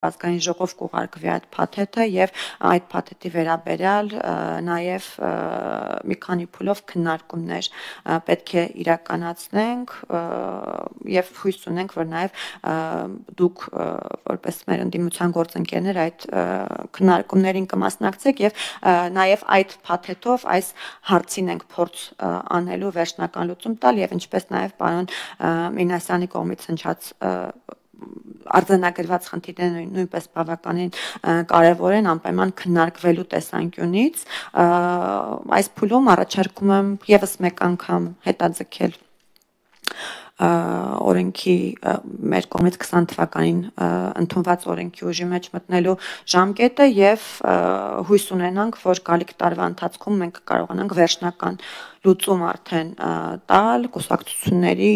ազգային ժողով կուղարկվի այդ փաթեթը եւ այդ փաթեթի վերաբերյալ նաեւ մի քանի փուլով քննարկումներ պետք է իրականացնենք եւ հույս ունենք, որ նաեւ դուք որպես մեր ընդդիմության գործընկերներ այդ քննարկումներին կմասնակցեք եւ նաեւ այդ փաթեթով այս հարցին ենք փորձ անելու վերջնական լուծում տալ եւ ինչպես նաեւ պարոն Մինասյանի կողմից հնչած արձանագրված խնդիրները նույնպես բավականին կարևոր են անպայման քննարկվելու տեսանկյունից այս փուլում առաջարկում եմ եւս մեկ անգամ հետաձգել օրենքի մեր կողմից 20 թվականին ընդունված օրենքի ուժի մեջ մտնելու ժամկետը եւ հույս ունենանք, որ գալիք տարվա ընթացքում մենք կարողանանք վերջնական լուծում արդեն տալ կուսակցությունների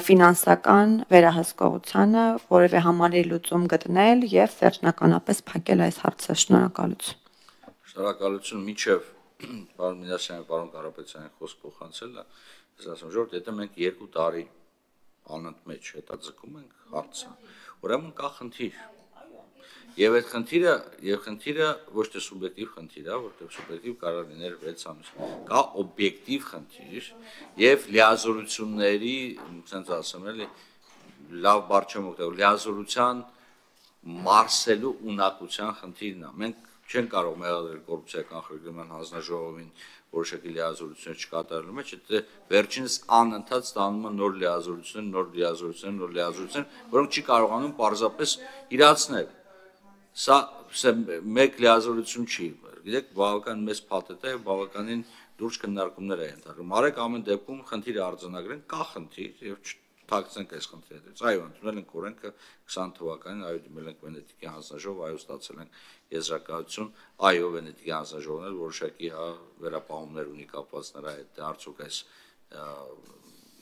ֆինանսական վերահսկողությանը, որևէ համալիր լուծում գտնել եւ վերջնականապես փակել այս հարցը։ Շնորհակալություն։ Շնորհակալություն միջև պարոն Մինասյանի, պարոն Կարապետյանի խոսք փոխանցելը, ես ասում եմ, եթե մենք 2 տարի անընդմեջ հետաձգում ենք հարցը, ուրեմն կա խնդիր։ Եվ այդ խնդիրը ոչ թե սուբյեկտիվ խնդիր է, որտեղ սուբյեկտիվ կարող լինել 6 ամիս, կա օբյեկտիվ խնդիր եւ լիազորությունների, ասենք ասեմ էլի, լավ բառ չեմ օգտագործել, լիազորության մարսելու ունակության խնդիրն է։ Մենք չեն կարող մեղադրել կոռուպցիայի կանխարգելման հանձնաժողովին որոշակի լիազորություններ չկատարելու մեջ, եթե վերջինս անընդհատ ստանում են նոր լիազորություններ, որոնք չի կարողանում պարզապես իրացնել։ Սա մեկ լիազորություն չի, գիտեք, բավական մեծ փաթեթ է, բավականին լուրջ քննարկումներ է ենթարկում։ Արեք ամեն դեպքում խնդիրը արձանագրենք, կա խնդիր եւ թաքցնենք այս խնդիրը։ Այո, ընդունել ենք օրենքը 20 թվականին, այո, դիմել ենք Վենետիկի հանձնաժողով, այո, ստացել ենք եզրակացություն, այո, Վենետիկի հանձնաժողովն էլ որոշակի վերապահումներ ունի կապված նրա հետ, արդյոք այս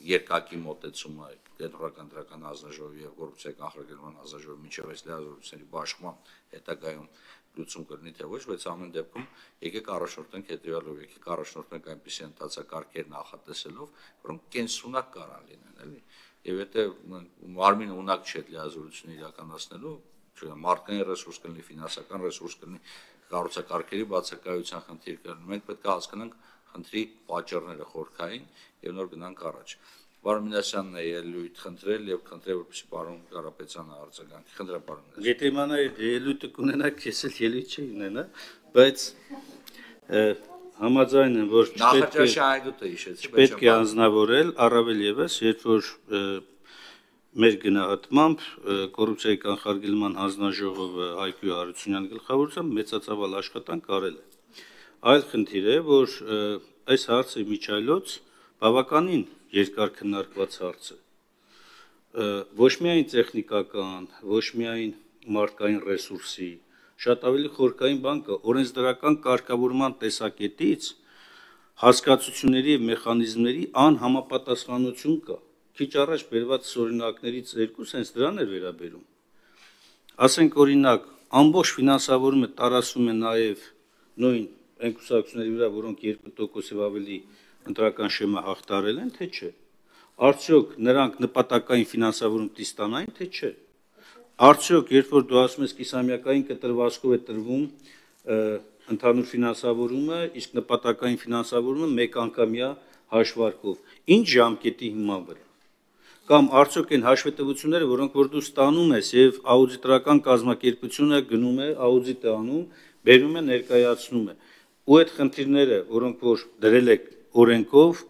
երկակի մոտեցումը Կենտրոնական դրական հանձնաժողովի եւ կոռուպցիայի կանխարգելման հանձնաժողովի միջև այս լիազորությունների բաշխման հետագայում լուծում կլինի թե ոչ, բայց ամեն դեպքում եկեք առաջնորդենք հետեւյալով, եկեք առաջնորդենք այնպիսի ընթացակարգեր նախատեսելով, որոնք կենսունակ կարան լինեն, էլի։ Եվ եթե մարմինը ունակ չէ լիազորությունը իրականացնելու, մարդկային ռեսուրս կլինի, ֆինանսական ռեսուրս կլինի, կառուցակարգերի բացակայության խնդիր կլինի, մենք պետք է հասկանանք խնդրի պատճառները խորքային եւ նոր գնանք առաջ։ Պարոն Մինասյանն է ելույթ խնդրել եւ խնդրել, որպեսզի պարոն Կարապետյանը արձագանքի։ Խնդրեմ պարոն Մինասյան։ Եթե իմանայի ելույթը կունենաք, ես էլ ելույթ չի ունենա, բայց համաձայն եմ, որ չպետք է անձնավորել, առավել եւս, երբ որ մեր գնահատմամբ կոռուպցիայի կանխարգելման հանձնաժողովը Հայկույ Հարությունյանի գլխավորությամբ մեծածավալ աշխատանք արել է։ Այլ խնդիր է, որ այս հարցը միջայլոց բավականին երկար քննարկված հարց է։ Ոչ միայն տեխնիկական, ոչ միայն մարդկային ռեսուրսի, շատ ավելի խորքային բան կա, օրենսդրական կարգավորման տեսակետից հասկացությունների եւ մեխանիզմների անհամապատասխանություն կա։ Քիչ առաջ բերված օրինակներից երկուսը հենց դրան էր վերաբերում։ Ասենք օրինակ, ամբողջ ֆինանսավորումը տարածվում է նաեւ նույն այն կուսակցությունների վրա, որոնք 2%-ով ավելի ընտրական շեմը հաղթարել են, թե չէ։ Արդյոք նրանք նպատակային ֆինանսավորում տիստանային, թե չէ։ Արդյոք երբ որ դու ասում ես կիսամյակային կտրվածքով է տրվում ընդհանուր ֆինանսավորումը, իսկ նպատակային ֆինանսավորումը մեկ անգամյա հաշվարկով, ինչ ժամկետի հիման վրա։ Կամ արդյոք այն հաշվետվությունները, որոնք որ դու ստանում ես եւ աուդիտորական կազմակերպությունը գնում է, աուդիտ է անում, բերում է, ներկայացնում է։ Ու այդ խնդիրները, որոնք որ դրել եք օրենքով,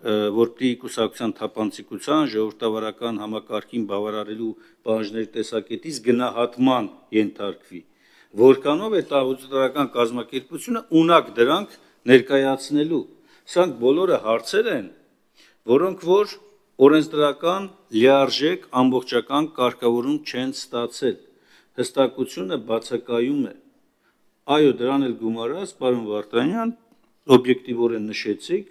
որպի կուսակցության թափանցիկության, ժողովրդավարական համակարգին բավարարելու պահանջների տեսակետից գնահատման ենթարկվի, որքանով է աուդիտորական կազմակերպությունը ունակ դրանք ներկայացնելու։ Սրանք բոլորը հարցեր են, որոնք որ օրենսդրական լիարժեք ամբողջական կարգավորում չեն ստացել։ Հստակությունը բացակայում է։ Այո, դրան էլ գումարած, պարոն Վարդանյան, օբյեկտիվորեն նշեցիք,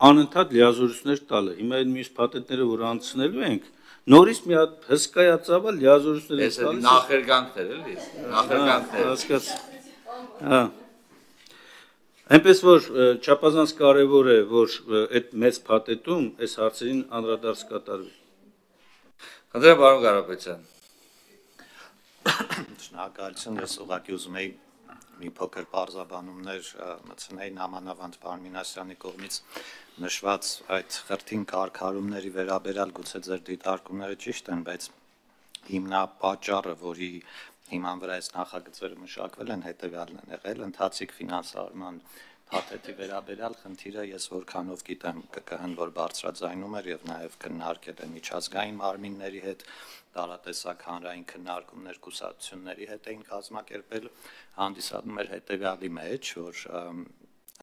անընդհատ լիազորություններ տալը։ Հիմա այդ մյուս փաթեթները, որ անցնելու ենք, նորից մի հատ հսկայածավալ լիազորություններ տալիս։ Այս նախերգանքներ էլի, նախերգանքներ։ Հասկաց։ Այնպես որ չափազանց կարևոր է, որ այդ մեծ փաթեթում այս հարցերին անդրադարձ կատարվի։ Խնդրեմ պարոն Կարապետյան։ Շնորհակալություն, ես ուղղակի ուզում էի մի փոքր բարձաբանումներ մտցնել նամանավանդ պարոն Մինասյանի կողմից նշված այդ խրթին կարգառումների վերաբերյալ գուցե ձեր դիտարկումները ճիշտ են, բայց հիմնապատճառը, որի հիման վրա այս նախագծերը մշակվել են, հետևյալն են եղել, ընթացիկ ֆինանսավորման փաթեթի վերաբերյալ խնդիրը ես որքանով գիտեմ ԿԿՀ-ն, որ բարձրաձայնում էր եւ նաեւ քննարկել է միջազգային մարմինների հետ, տարատեսակ հանրային քննարկումներ կուսակցությունների հետ էին կազմակերպել, հանդիսանում էր հետևյալի մեջ, որ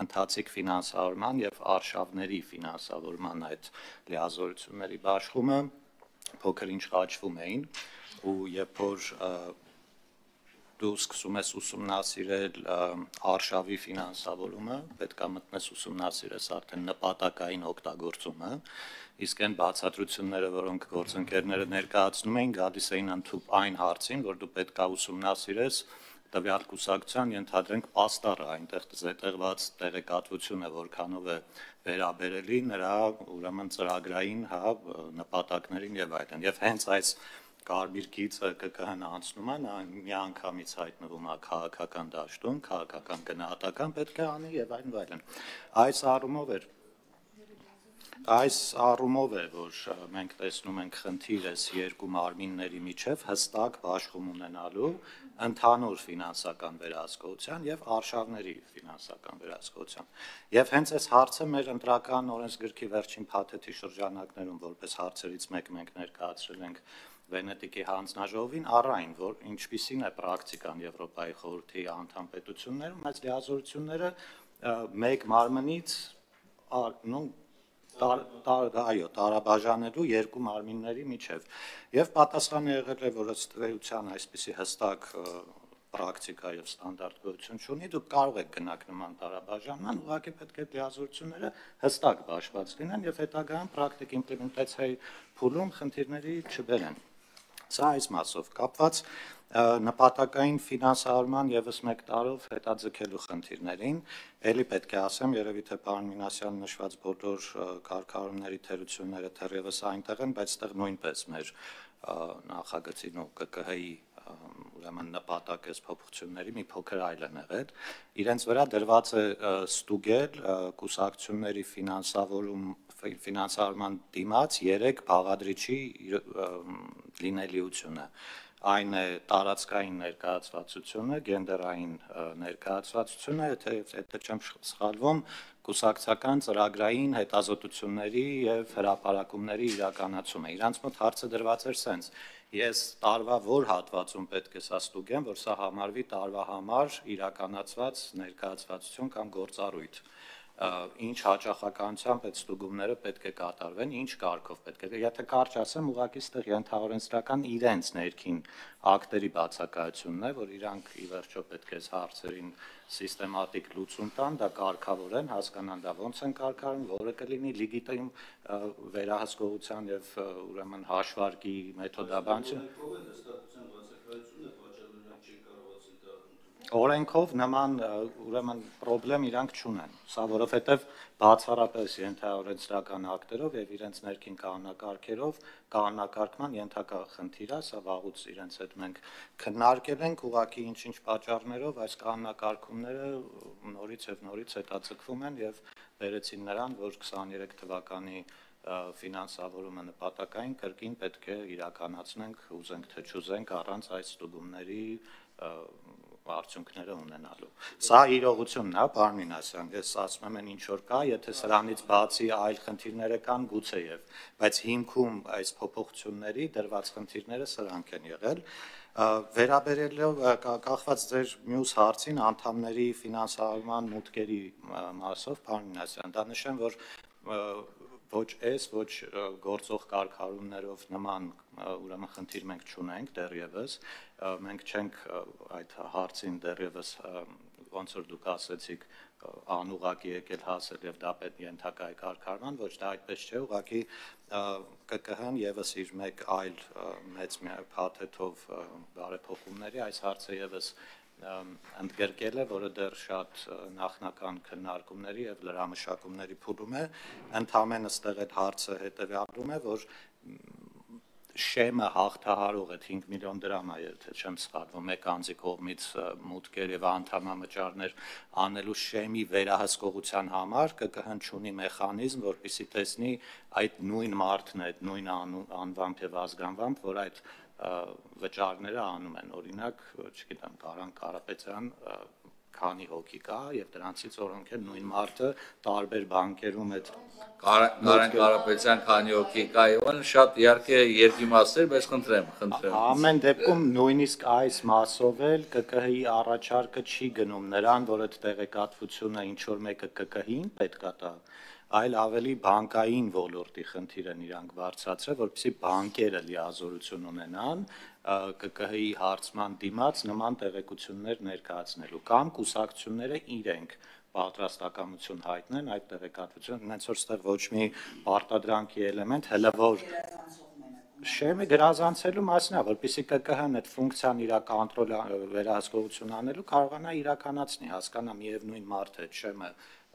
ընթացիկ ֆինանսավորման եւ արշավների ֆինանսավորման այդ լիազորությունների բաշխումը փոքր ինչ խաչվում էին ու երբ որ դու սկսում ես ուսումնասիրել արշավի ֆինանսավորումը, պետք է մտնես ուսումնասիրես արդեն նպատակային օգտագործումը, իսկ այն բացատրությունները, որոնք գործընկերները ներկայացնում էին, գալիս էին ընդհանուր այն հարցին, որ դու պետք է ուսումնասիրես տվյալ կուսակցության ենթադրենք պաստառը, այնտեղ զետեղված տեղեկատվությունը, որքանով է վերաբերելի նրա ուրեմն ծրագրային նպատակներին եւ այլն։ Եվ հենց այս կարմիր գիծը ԿԿՀ-ն անցնում է, նա միանգամից հայտնվում է քաղաքական դաշտում, քաղաքական գնահատական պետք է անի եւ այլն։ Այս առումով է, որ մենք տեսնում ենք խնդիր այս երկու մարմինների միջև հստակ բաշխում ունենալու ընդհանուր ֆինանսական վերահսկողության եւ արշավների ֆինանսական վերահսկողության։ Եվ հենց այս հարցը մեր ընտրական օրենսգրքի վերջին փաթեթի շրջանակներում որպես հարցերից մեկ մենք ներկայացրել ենք Վենետիկի հանձնաժողովին առայն, որ ինչպիսին է պրակտիկան Եվրոպայի խորհրդի անդամ պետություններում, այս լիազորությունները մեկ մարմնից տարաբաժանելու երկու մարմինների միջև։ Եվ պատասխանը եղել է, որ ըստ էության այսպիսի հստակ պրակտիկա եւ ստանդարտ գոյություն չունի, դուք կարող եք գնաք նման տարաբաժանման, ուղղակի պետք է լիազորությունները հստակ բաշխված լինեն եւ հետագայում պրակտիկ իմպլեմենտացիայի փուլում խնդիրների չբերեն։ Սա այս մասով կապված նպատակային ֆինանսավորման եւս մեկ տարով հետաձգելու խնդիրներին, ելի պետք է ասեմ, երևի թե պարոն Մինասյանի նշված բոլոր կարգառումների թերությունները թերևս այնտեղ են, բայց այդտեղ նույնպես մեր նախագծին ու ԿԿՀ-ի ուրեմն նպատակես փոփոխությունների մի փոքր այլ են եղել։ Իրենց վրա դրված է ստուգել կուսակցությունների ֆինանսավորման դիմաց 3 բաղադրիչի լինելիությունը։ Այն է տարածքային ներկայացվածությունը, գենդերային ներկայացվածությունը, եթե չեմ սխալվում, կուսակցական ծրագրային հետազոտությունների եւ հրապարակումների իրականացումը։ Իրանց մոտ հարցը դրված էր սենց. ես տարվա որ հատվածում պետք է սա ստուգեմ, որ սա համարվի տարվա համար իրականացված ներկայացվածություն կամ գործառույթ։ Ինչ հաճախականությամբ այդ ստուգումները պետք է կատարվեն, ինչ կարգով պետք է։ Եթե կարճ ասեմ, ուղղակի ստեղ ենթաօրենսդրական իրենց ներքին ակտերի բացակայությունն է, որ իրանք ի վերջո պետք է հարցերին սիստեմատիկ լուծում տան, դա կարգավորեն, հասկանան դա ոնց են կարգավորում, որը կլինի լեգիտիմ վերահսկողության եւ ուրեմն հաշվարկի մեթոդաբանություն։ Օրենքով նման ուրեմն պրոբլեմ իրանք չունեն, սա որովհետև բացառապես ենթաօրենսդրական ակտերով եւ իրենց ներքին կանոնակարգերով կանոնակարգման ենթակա խնդիր է, սա վաղուց իրենց հետ մենք քննարկել ենք, ուղղակի ինչ-ինչ պատճառներով այս կանոնակարգումները նորից հետաձգվում են եւ վերեցին նրան, որ 23 թվականի ֆինանսավորումը նպատակային կրկին պետք է իրականացնենք, ուզենք թե չուզենք, առանց այս ստուգումների արդյունքները ունենալու։ Սա իրողությունն է, պարոն Մինասյան, ես ասում եմ ինչ որ կա, եթե սրանից բացի այլ խնդիրներ կան, գուցեև, բայց հիմքում այս փոփոխությունների դրված խնդիրները սրանք են եղել։ Վերաբերելով կախված ձեր մյուս հարցին անդամների ֆինանսավորման մուտքերի մասով, պարոն Մինասյան, դա նշեմ, որ ոչ այս, ոչ գործող կարգառումներով նման ուրեմն խնդիր մենք չունենք դեռևս, մենք չենք այդ հարցին դեռևս ոնց որ դուք ասեցիք անուղղակի եկել հասել եւ դա պետք ենթակա է կարգառման, ոչ դա այդպես չէ, ուղղակի ԿԿՀ-ն եւս իր մեկ այլ մեծ փաթեթով բարեփոխումների այս հարցը եւս ընդգրկել է, որը դեռ շատ նախնական քննարկումների եւ լրամշակումների փուլում է, ընդհանրապես այստեղ այդ հարցը հետեւյալում է, որ շեմը հաղթահարող այդ 5 միլիոն դրամ է, եթե չեմ սխալվում, մեկ անձի կողմից մուտքեր եւ անդամամճարներ անելու շեմի վերահսկողության համար ԿԿՀ-ն ունի մեխանիզմ, որպեսզի տեսնի այդ նույն մարդն է, այդ նույն անվամբ եւ ազգանվամբ, որ այդ վճարները անում են, օրինակ, չգիտեմ, Կարան Կարապետյան քանի հոգի կա եւ դրանցից որոնք են նույն մարդը տարբեր բանկերում այդ Կարեն Կարապետյան քանի հոգի կա եւ այլն շատ իհարկե երկիմաստեր, բայց խնդրեմ։ Ամեն դեպքում նույնիսկ այս մասով էլ ԿԿՀ-ի առաջարկը չի գնում նրան, որ այդ տեղեկատվությունը ինչ որ մեկը ԿԿՀ-ին պետքա տա, այլ ավելի բանկային ոլորտի խնդիր են իրանք բարձրացրել, որպեսզի բանկերը լիազորություն ունենան ԿԿՀ-ի հարցման դիմաց նման տեղեկություններ ներկայացնելու կամ կուսակցությունները իրենք պատրաստակամություն հայտնեն այդ տեղեկատվությունը, հենց որ ստեղ ոչ մի պարտադրանքի էլեմենտ, հələ որ շեմը գրազանցելու մասն է, որպեսզի ԿԿՀ-ն այդ ֆունկցիան իր կոնտրոլ վերահսկողություն անելու կարողանա իրականացնի, հասկանա միևնույն մարդը այդ շեմը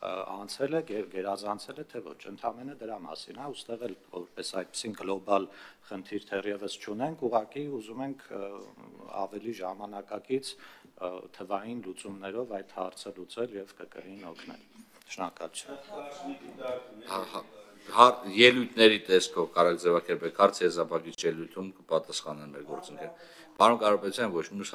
անցել է, գերազանցել է, թե ոչ, ընդհանրապես դրա մասին է, ուստեղ էլ որպես այդպեսին գլոբալ խնդիր թերևս չունենք, ուղղակի ուզում ենք ավելի ժամանակակից թվային լուծումներով այդ հարցը լուծել եւ ԿԿՀ-ին օգնել։ Շնորհակալություն։ Ելույթների տեսքով կարող ձևակերպեք հարց եզրափակիչ ելույթում կպատասխանեն մեր գործընկեր։ Պարոն Կարապետյան, ոչ մյուս